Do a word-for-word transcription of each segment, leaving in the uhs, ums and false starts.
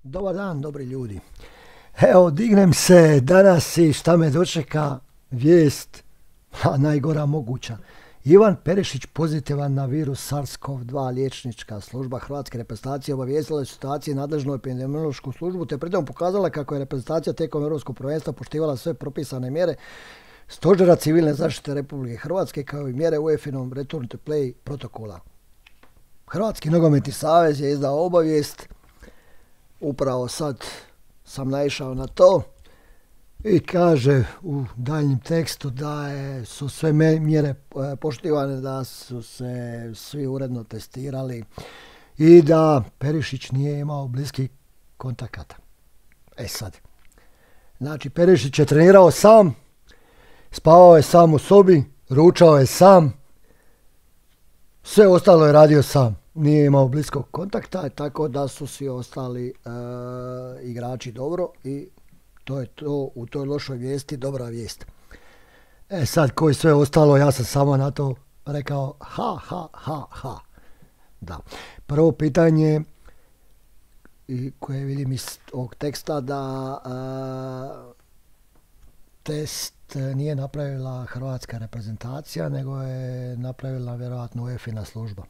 Dobar dan, dobri ljudi. Evo, dignem se danas i šta me dočeka vijest, a najgora moguća. Ivan Perišić pozitivan na virus SARS-CoV dva. Liječnička služba Hrvatske reprezentacije obavijestila je situaciji nadležnu epidemiološku službu te pritom pokazala kako je reprezentacija tijekom europskog prvenstva poštivala sve propisane mjere Stožera civilne zaštite Republike Hrvatske kao i mjere UEFA-inom Return to Play protokola. Hrvatski nogometni savez je izdao obavijest. Upravo sad sam naišao na to i kaže u daljnjem tekstu da je, su sve mjere poštivane, da su se svi uredno testirali i da Perišić nije imao bliskih kontakata. E sad, znači Perišić je trenirao sam, spavao je sam u sobi, ručao je sam, sve ostalo je radio sam. Nije imao bliskog kontakta, tako da su svi ostali e, igrači dobro i to je to u toj lošoj vijesti dobra vijest. E sad, koji sve ostalo, ja sam samo na to rekao ha, ha, ha, ha. Da. Prvo pitanje i koje vidim iz ovog teksta da e, test nije napravila hrvatska reprezentacija, nego je napravila vjerojatno UEFA-ina služba.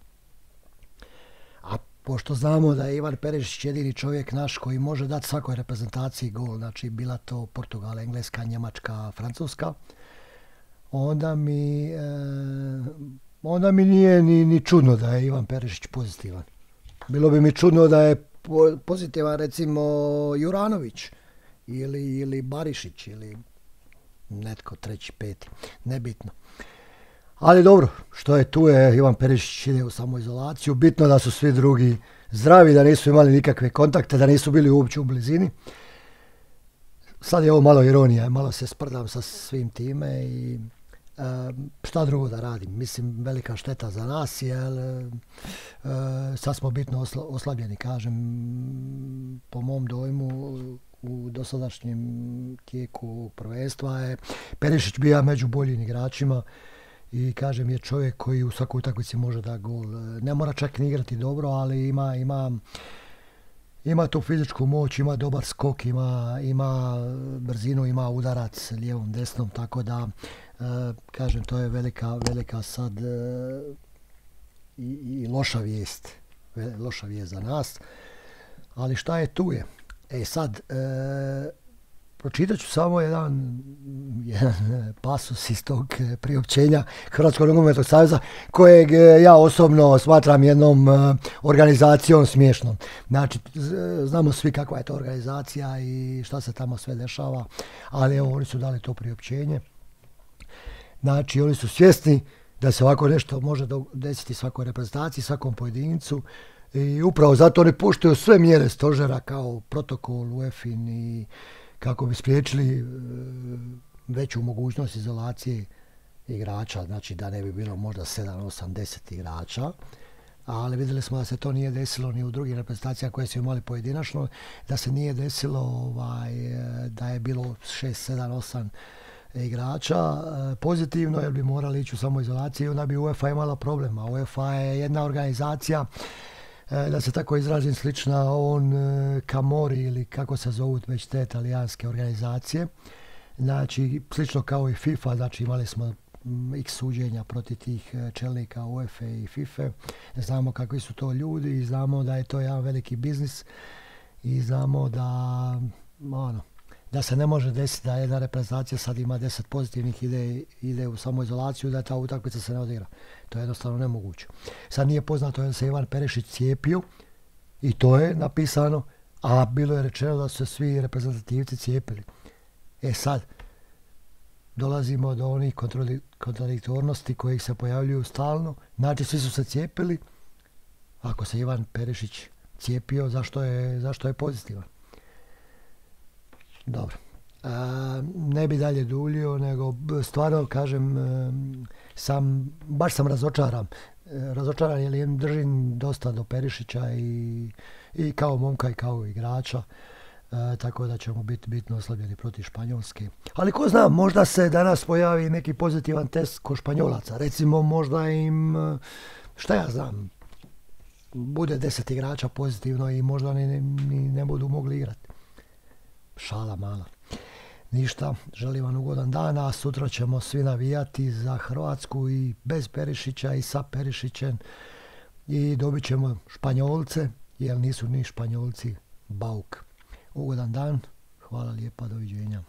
A pošto znamo da je Ivan Perišić jedini čovjek naš koji može dati svakoj reprezentaciji gol, znači bila to Portugal, Engleska, Njemačka, Francuska, onda mi, e, onda mi nije ni, ni čudno da je Ivan Perišić pozitivan. Bilo bi mi čudno da je po, pozitivan recimo Juranović ili, ili Barišić ili netko treći, peti, nebitno. Ali dobro, što je tu je, Ivan Perišić ide u samoizolaciju, bitno da su svi drugi zdravi, da nisu imali nikakve kontakte, da nisu bili uopće u blizini. Sad je ovo malo ironija, malo se sprdam sa svim time i e, šta drugo da radim. Mislim, velika šteta za nas, jer e, sad smo bitno osla, oslabljeni, kažem, po mom dojmu u dosadašnjem tijeku prvenstva je Perišić bio među boljim igračima. I kažem, je čovjek koji u svakoj utakmici može da gol. Ne mora čak ni igrati dobro, ali ima, ima, ima tu fizičku moć, ima dobar skok, ima, ima brzinu, ima udarac lijevom, desnom, tako da e, kažem, to je velika, velika sad e, i, i loša vijest. Loša vijest za nas. Ali šta je tu je? E sad, e, pročitat ću samo jedan, jedan pasus iz tog priopćenja Hrvatskog nogometnog saveza kojeg ja osobno smatram jednom organizacijom smiješnom. Znači, znamo svi kakva je to organizacija i šta se tamo sve dešava, ali evo, oni su dali to priopćenje. Znači, oni su svjesni da se ovako nešto može desiti svakoj reprezentaciji, svakom pojedincu i upravo zato oni puštaju sve mjere stožera kao protokol UEFA-in i kako bi spriječili veću mogućnost izolacije igrača, znači da ne bi bilo možda sedam, osam, deset igrača, ali vidjeli smo da se to nije desilo ni u drugim reprezentacijama koje su imali pojedinačno, da se nije desilo ovaj, da je bilo šest, sedam, osam igrača pozitivno, jer bi morali ići u samoizolaciju, onda bi UEFA imala problema. UEFA je jedna organizacija, da se tako izrazim, slična on Camori ili kako se zovu već te talijanske organizacije. Znači, slično kao i FIFA, znači imali smo x suđenja protiv tih čelnika UEFA i FIFA. Znamo kakvi su to ljudi i znamo da je to jedan veliki biznis i znamo da, ono, da se ne može desiti da jedna reprezentacija sad ima deset pozitivnih, ide, ide u samoizolaciju, da ta utakmica se ne odigra. To je jednostavno nemoguće. Sad nije poznato da se Ivan Perišić cijepio i to je napisano, a bilo je rečeno da su se svi reprezentativci cijepili. E sad, dolazimo do onih kontradiktornosti kojih se pojavljuju stalno. Znači, svi su se cijepili. Ako se Ivan Perišić cijepio, zašto je, zašto je pozitivan? Dobro. A, ne bi dalje duljio, nego stvarno kažem, sam, baš sam razočaran. Razočaran jer držim dosta do Perišića i, i kao momka i kao igrača. E, tako da ćemo biti bitno oslabljeni protiv Španjolske. Ali ko zna, možda se danas pojavi neki pozitivan test kod Španjolaca. Recimo možda im, šta ja znam, bude deset igrača pozitivno i možda ni, ni ne budu mogli igrati. Šala mala. Ništa, želim vam ugodan dan, a sutra ćemo svi navijati za Hrvatsku i bez Perišića i sa Perišićem i dobit ćemo Španjolce, jer nisu ni Španjolci bauk. Ugodan dan, hvala lijepa, doviđenja.